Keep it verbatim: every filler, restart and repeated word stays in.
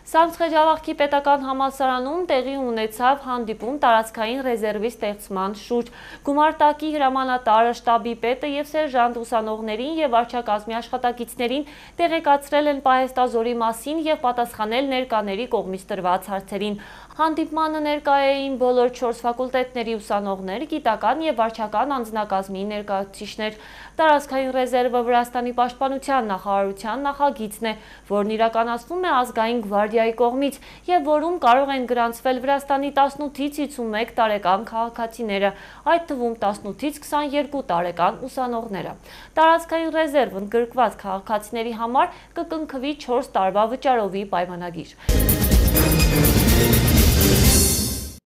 Սամսխեջավախքի պետական համալսարանում տեղի ունեցավ հանդիպում տարածքային ռեզերվի ստեղծման շուրջ։ Գումարտակի հրամանատարը, շտաբի պետը և սերժանտ ուսանողներին և վարչակազմի աշխատակիցներին տեղեկացրել են պահեստազորի մասին և պատասխանել ներկաների կողմից տրված հարցերին։ Հանդիպմանը ներկա էին բոլոր չորս ֆակուլտետների ուսանողներ, գիտական և վարչական անձնակազմի ներկայացուցիչներ։ Տարածքային ռեզերվը Վրաստանի պաշտպանության նախարարության նախագիծն է, որն իրականացվում է ազգային գվարդիայի կողմից և որում կարող են գրանցվել Վրաստանի տասնութից հիսունմեկ տարեկան քաղաքացիները, այդ թվում տասնութից քսաներկու տարեկան ուսանողները։ Տարածքային ռեզերվն ընդգրկված քաղաքացիների համար կկնքվի չորս տարվա վճարովի պայմանագիր։